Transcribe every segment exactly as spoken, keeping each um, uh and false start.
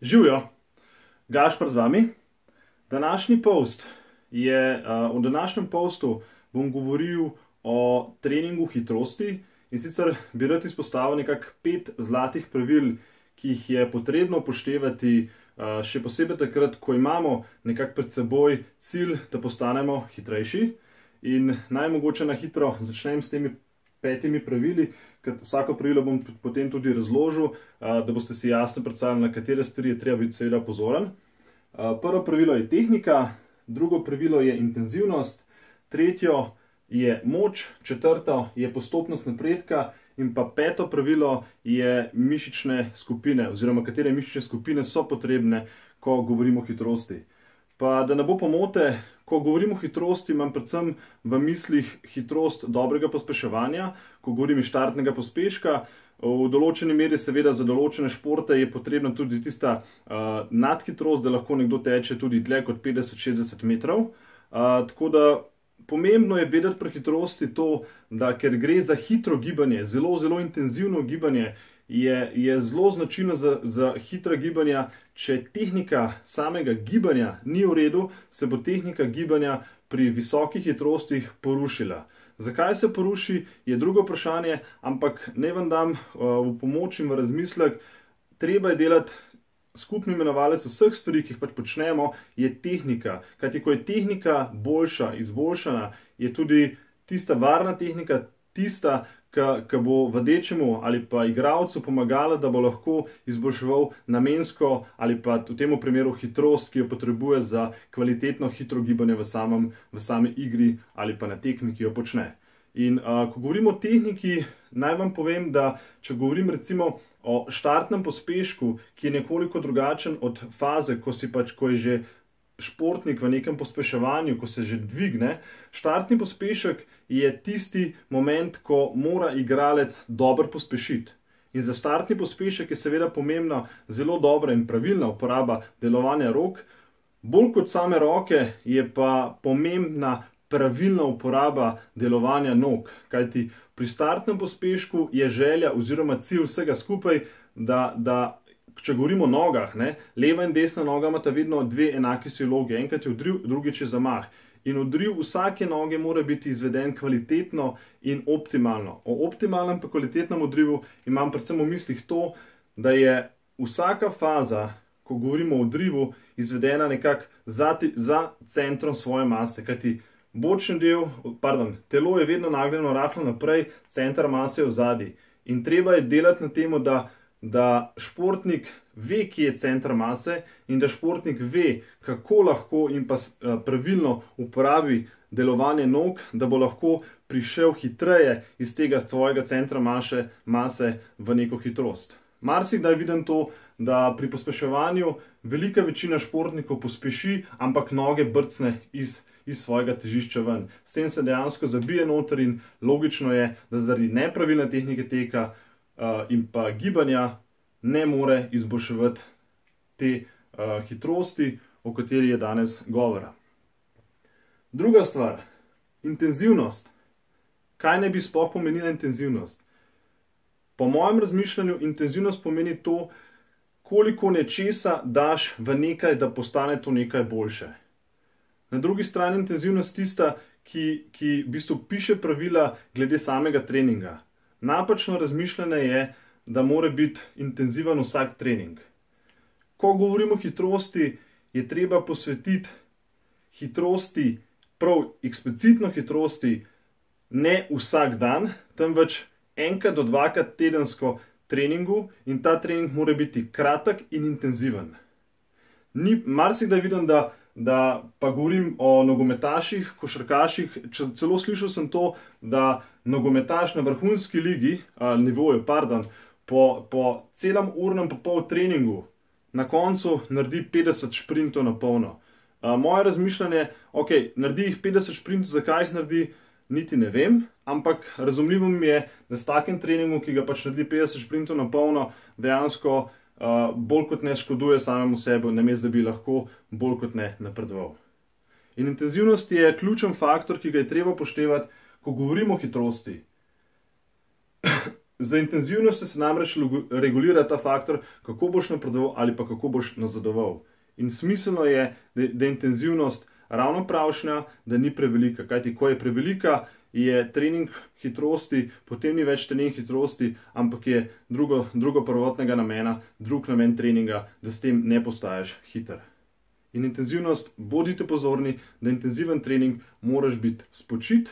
Živijo, Gašper z vami. Današnji post je, uh, v današnjem postu bom govoril o treningu hitrosti in sicer bi rad izpostavil nekako pet zlatih pravil, ki jih je potrebno upoštevati, uh, še posebej takrat, ko imamo nekako pred seboj cilj, da postanemo hitrejši. In naj mogoče na hitro začnem s temi petimi pravili, ker vsako pravilo bom potem tudi razložil, da boste si jasno predstavili, na katere stvari je treba biti seveda pozoren. Prvo pravilo je tehnika, drugo pravilo je intenzivnost, tretjo je moč, četrto je postopnost napredka in pa peto pravilo je mišične skupine oziroma katere mišične skupine so potrebne, ko govorimo o hitrosti. Pa da ne bo pomote, ko govorim o hitrosti, imam predvsem v mislih hitrost dobrega pospeševanja, ko govorim iz štartnega pospeška. V določeni meri seveda za določene športe je potrebna tudi tista uh, nadhitrost, da lahko nekdo teče tudi dlje kot petdeset do šestdeset metrov. Uh, tako da pomembno je vedeti pri hitrosti to, da ker gre za hitro gibanje, zelo, zelo intenzivno gibanje, je, je zelo značilno za, za hitra gibanja. Če tehnika samega gibanja ni v redu, se bo tehnika gibanja pri visokih hitrostih porušila. Zakaj se poruši, je drugo vprašanje, ampak naj vam dam uh, v pomoč in v razmislek. Treba je delati skupni imenovalec vseh stvari, ki jih pač počnemo, je tehnika. Kajti ko je tehnika boljša, izboljšana, je tudi tista varna tehnika tista, ki bo vadečemu ali pa igralcu pomagala, da bo lahko izboljševal namensko ali pa v tem primeru hitrost, ki jo potrebuje za kvalitetno hitro gibanje v, samem, v sami igri ali pa na tekmi, ki jo počne. In uh, ko govorimo o tehniki, naj vam povem, da če govorim recimo o štartnem pospešku, ki je nekoliko drugačen od faze, ko, si pač, ko je že športnik v nekem pospeševanju, ko se že dvigne, štartni pospešek je tisti moment, ko mora igralec dobro pospešiti. In za štartni pospešek je seveda pomembna zelo dobra in pravilna uporaba delovanja rok. Bolj kot same roke je pa pomembna pravilna uporaba delovanja nog. Kajti pri startnem pospešku je želja oziroma cilj vsega skupaj, da, da če govorimo o nogah, ne, leva in desna noga imata vedno dve enaki silogi. Enkrat je odriv, drugič je zamah. In odriv vsake noge mora biti izveden kvalitetno in optimalno. O optimalnem pa kvalitetnem odrivu imam predvsem v mislih to, da je vsaka faza, ko govorimo o odrivu, izvedena nekako za, za centrom svoje mase. Kajti bočni del, pardon, telo je vedno nagnjeno rahlo naprej, center mase je v zadnji. In treba je delati na temu, da da športnik ve, kje je center mase in da športnik ve, kako lahko in pa pravilno uporabi delovanje nog, da bo lahko prišel hitreje iz tega svojega centra mase, mase v neko hitrost. Marsikdaj vidim to, da pri pospeševanju velika večina športnikov pospeši, ampak noge brcne iz, iz svojega težišča ven. S tem se dejansko zabije noter in logično je, da zaradi nepravilne tehnike teka Uh, in pa gibanja ne more izboljševati te uh, hitrosti, o kateri je danes govora. Druga stvar, intenzivnost. Kaj ne bi sploh pomenila intenzivnost? Po mojem razmišljanju intenzivnost pomeni to, koliko nečesa daš v nekaj, da postane to nekaj boljše. Na drugi strani intenzivnost tista, ki, ki v bistvu piše pravila glede samega treninga. Napačno razmišljanje je, da mora biti intenziven vsak trening. Ko govorimo o hitrosti, je treba posvetiti hitrosti, prav eksplicitno hitrosti, ne vsak dan, temveč enkrat do dvakrat tedensko treningu in ta trening mora biti kratek in intenziven. Ni, marsikdaj vidim, da da pa govorim o nogometaših, košarkaših, celo slišal sem to, da nogometaš na vrhunski ligi, ali nivoju, pardon, po, po celem urnem pa pol treningu na koncu naredi petdeset šprintov na polno. A, moje razmišljanje, ok, naredi jih petdeset šprintov, zakaj jih naredi, niti ne vem, ampak razumljivo mi je, da s takim treningom, ki ga pač naredi petdeset šprintov na polno, dejansko Uh, bolj kot ne škoduje samemu sebi, namesto da bi lahko bolj kot ne napredoval. In intenzivnost je ključen faktor, ki ga je treba upoštevati, ko govorimo o hitrosti. Za intenzivnost se namreč regulira ta faktor, kako boš napredoval ali pa kako boš nazadoval. In smiselno je, da, da je intenzivnost ravno pravšnja, da ni prevelika. Kajti, ko je prevelika, je trening hitrosti, potem ni več trening hitrosti, ampak je drugo, drugo prvotnega namena, drug namen treninga, da s tem ne postaješ hiter. In intenzivnost, bodite pozorni, da intenziven trening moraš biti spočit,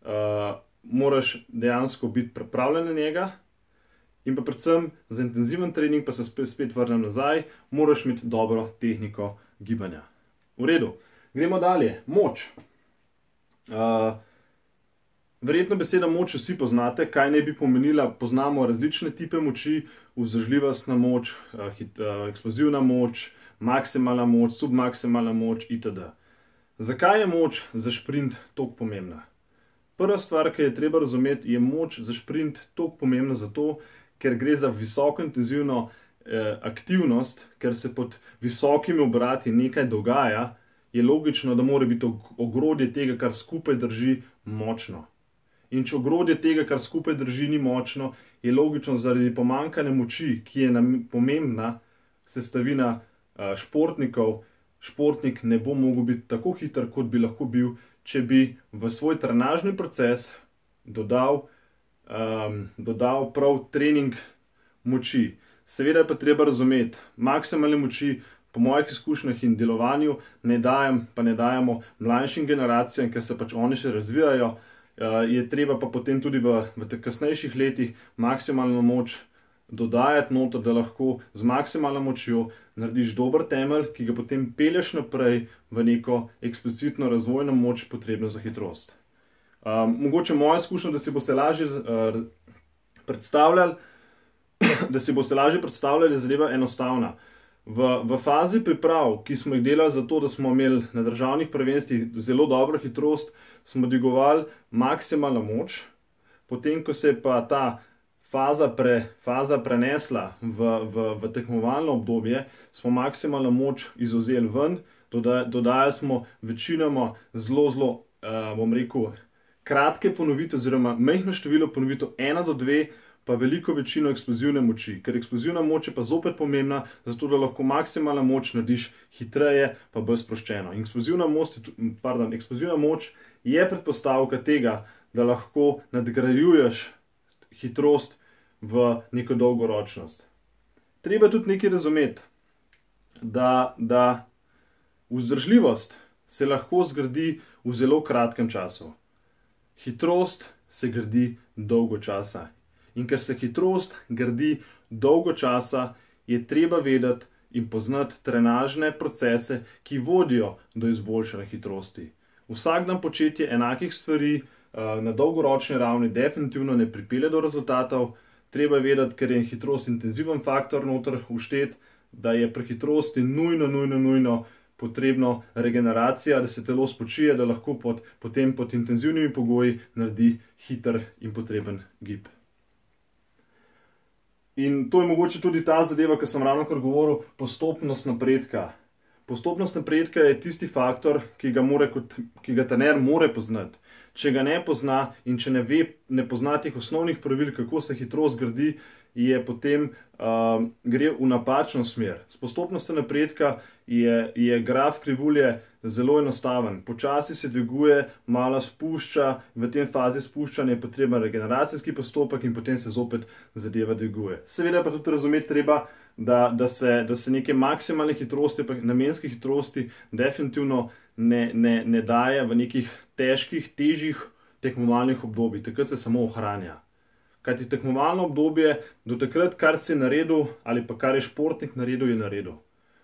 uh, moraš dejansko biti pripravljen na njega in pa predvsem za intenziven trening, pa se spet, spet vrnem nazaj, moraš imeti dobro tehniko gibanja. V redu, gremo dalje. Moč. Uh, verjetno beseda moč vsi poznate, kaj naj bi pomenila. Poznamo različne tipe moči, vzdržljivostna moč, uh, hit, uh, eksplozivna moč, maksimalna moč, submaksimalna moč itd. Zakaj je moč za šprint toliko pomembna? Prva stvar, ki je treba razumeti, je moč za šprint toliko pomembna zato, ker gre za visoko intenzivno eh, aktivnost, ker se pod visokimi obrati nekaj dogaja, je logično, da mora biti ogrodje tega, kar skupaj drži, močno. In če ogrodje tega, kar skupaj drži, ni močno, je logično zaradi pomanjkanja moči, ki je pomembna sestavina eh, športnikov, športnik ne bo mogel biti tako hiter, kot bi lahko bil, če bi v svoj trenažni proces dodal, um, dodal prav trening moči. Seveda je pa treba razumeti, maksimalne moči po mojih izkušnjah in delovanju ne dajem, pa ne dajemo mlajšim generacijam, ker se pač oni še razvijajo, uh, je treba pa potem tudi v, v teh kasnejših letih maksimalno moč dodajati noto, da lahko z maksimalno močjo narediš dober temelj, ki ga potem pelješ naprej v neko eksplicitno razvojno moč, potrebno za hitrost. Um, mogoče moja izkušnja, da si boste lažje uh, predstavljali, da si boste lažje predstavljali, zadeva enostavna. V, v fazi priprav, ki smo jih delali za to, da smo imeli na državnih prvenstvih zelo dobro hitrost, smo dvigovali maksimalno moč, potem ko se je pa ta Faza, pre, faza prenesla v, v, v tekmovalno obdobje, smo maksimalno moč izvzeli ven, doda, dodajali smo večinoma zelo, zelo, uh, bom rekel, kratke ponovitve, oziroma majhno število ponovitev, ena do dve, pa veliko večino eksplozivne moči. Ker eksplozivna moč je pa zopet pomembna, zato da lahko maksimalno moč narediš hitreje, pa bolj sproščeno. In eksplozivna moč, pardon, eksplozivna moč je predpostavka tega, da lahko nadgrajuješ hitrost v neko dolgoročnost. Treba tudi nekaj razumeti, da, da vzdržljivost se lahko zgradi v zelo kratkem času. Hitrost se gradi dolgo časa. In ker se hitrost gradi dolgo časa, je treba vedeti in poznati trenažne procese, ki vodijo do izboljšanja hitrosti. Vsak dan početje enakih stvari na dolgoročni ravni definitivno ne pripelje do rezultatov. Treba je vedeti, ker je hitrost intenziven faktor noter vštet, da je pri hitrosti nujno, nujno, nujno potrebno regeneracija, da se telo spočije, da lahko pod, potem pod intenzivnimi pogoji naredi hiter in potreben gib. In to je mogoče tudi ta zadeva, ki sem ravnokar govoril, postopnost napredka. Postopnost napredka je tisti faktor, ki ga, more kot, ki ga trener more poznati. Če ga ne pozna in če ne, ve, ne pozna teh osnovnih pravil, kako se hitrost gradi, je potem uh, gre v napačno smer. S postopnostjo napredka je, je graf krivulje zelo enostaven. Počasi se dviguje, malo spušča, v tem fazi spuščanja je potreben regeneracijski postopek in potem se zopet zadeva dviguje. Seveda pa tudi razumeti treba, da, da, se, da se neke maksimalne hitrosti, pa namenske hitrosti definitivno ne, ne, ne daje v nekih težkih, težjih tekmovalnih obdobij. Takrat se samo ohranja. Kajti tekmovalno obdobje, do takrat, kar si naredil ali pa kar je športnik naredil, je naredil.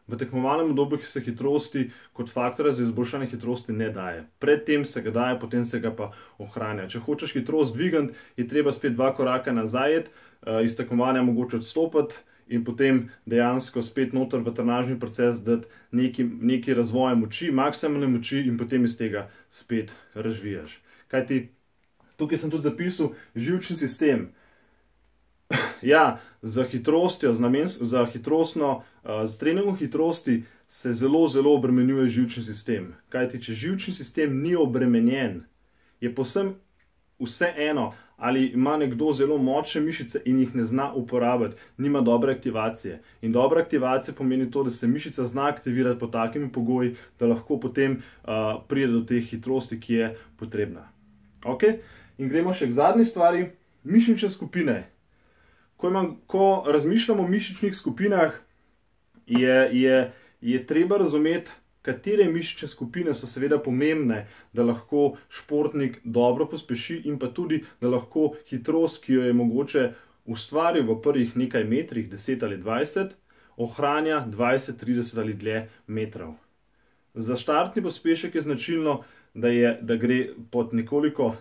V tekmovalnem obdobju se hitrosti kot faktora za izboljšanje hitrosti ne daje. Predtem se ga daje, potem se ga pa ohranja. Če hočeš hitrost dvigati, je treba spet dva koraka nazaj, iz tekmovanja mogoče odstopiti in potem dejansko spet noter v trenažni proces dati neki, neki razvoj moči, maksimalne moči in potem iz tega spet razvijaš. Kajti tukaj sem tudi zapisal živčni sistem. Ja, za hitrostjo, z namens, za hitrostno, z treningom hitrosti se zelo, zelo obremenjuje živčni sistem. Kajti, če živčni sistem ni obremenjen, je povsem vseeno, ali ima nekdo zelo močne mišice in jih ne zna uporabiti, nima dobre aktivacije. In dobra aktivacija pomeni to, da se mišica zna aktivirati pod takimi pogoji, da lahko potem uh, pride do te hitrosti, ki je potrebna. Okay? In gremo še k zadnji stvari, mišične skupine. Ko, imam, ko razmišljamo o mišičnih skupinah, je, je, je treba razumeti, katere mišične skupine so seveda pomembne, da lahko športnik dobro pospeši in pa tudi, da lahko hitrost, ki jo je mogoče ustvaril v prvih nekaj metrih, deset ali dvajset, ohranja dvajset, trideset ali dlje metrov. Za štartni pospešek je značilno, da, je, da gre pod nekoliko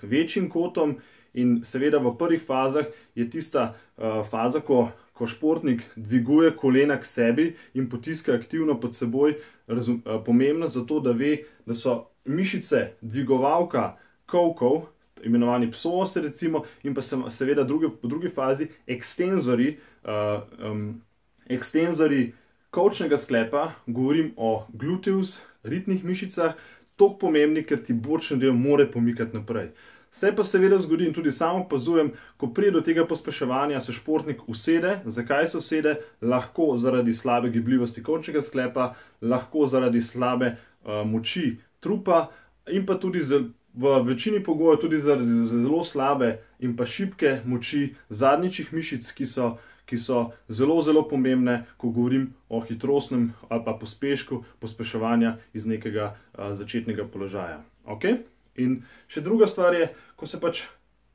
večjim kotom in seveda v prvih fazah je tista uh, faza, ko, ko športnik dviguje kolena k sebi in potiska aktivno pod seboj, razum, uh, pomembna zato, da ve, da so mišice dvigovalka kolkov, imenovani psoasi recimo, in pa seveda druge, v drugi fazi ekstenzori, uh, um, ekstenzori kolčnega sklepa, govorim o gluteus, ritnih mišicah, toliko pomembni, ker ti bočni del more pomikati naprej. Se pa seveda zgodi in tudi sam opazujem, ko pride do tega pospeševanja, se športnik usede. Zakaj se usede? Lahko zaradi slabe gibljivosti kolčnega sklepa, lahko zaradi slabe uh, moči trupa in pa tudi z, v večini pogojev tudi zaradi zelo slabe in pa šibke moči zadnjičnih mišic, ki so, ki so zelo, zelo pomembne, ko govorim o hitrostnem ali pa pospešku pospeševanja iz nekega uh, začetnega položaja. Okay? In še druga stvar je, ko se pač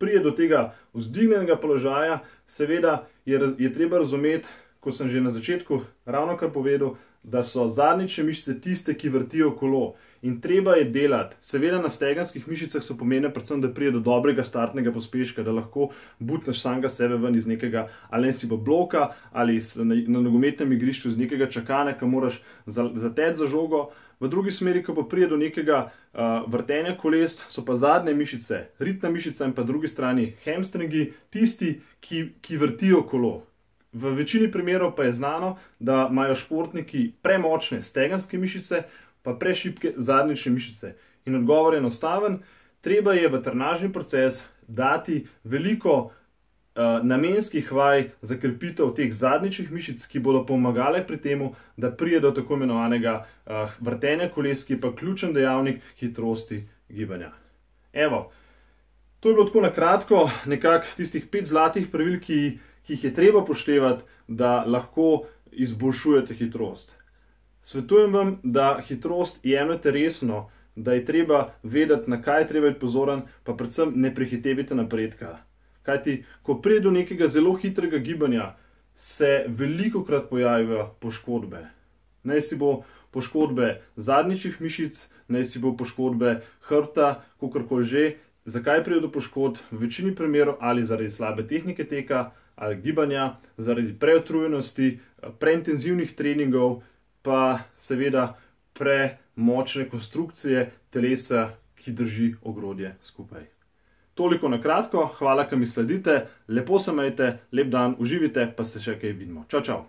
pride do tega vzdignjenega položaja, seveda je, je treba razumeti, ko sem že na začetku ravno kar povedal, da so zadnjične mišice tiste, ki vrtijo kolo. In treba je delati. Seveda na stegenskih mišicah so pomembne predvsem, da pride do dobrega startnega pospeška, da lahko butneš samega sebe ven iz nekega ali si bo bloka ali na, na nogometnem igrišču iz nekega čakanja, ki moraš zateči za žogo. V drugi smeri, ko pa pride do nekega uh, vrtenja koles, so pa zadnje mišice, ritna mišica in pa drugi strani hamstringi, tisti, ki, ki vrtijo kolo. V večini primerov pa je znano, da imajo športniki premočne stegenske mišice, pa prešibke zadnjične mišice. In odgovor je enostaven, treba je v trenažni proces dati veliko uh, namenskih vaj za krepitev teh zadnjičnih mišic, ki bodo pomagale pri temu, da pride do tako imenovanega uh, vrtenja koles, ki je pa ključen dejavnik hitrosti gibanja. Evo, to je bilo tako na kratko, nekako tistih pet zlatih pravil, ki, ki jih je treba poštevati, da lahko izboljšujete hitrost. Svetujem vam, da hitrost jemljete resno, da je treba vedeti, na kaj je treba biti pozoren, pa predvsem ne prehitevajte napredka. Kajti, ko pride do nekega zelo hitrega gibanja, se velikokrat pojavijo poškodbe. Naj si bo poškodbe zadnjičnih mišic, naj si bo poškodbe hrbta, kakorkoli že. Zakaj pride do poškodb? V večini primerov ali zaradi slabe tehnike teka ali gibanja, zaradi preutrujenosti, preintenzivnih treningov, pa seveda premočne konstrukcije telesa, ki drži ogrodje skupaj. Toliko na kratko, hvala, ker mi sledite, lepo se imejte, lep dan, uživite, pa se še kaj vidimo. Čau, čau!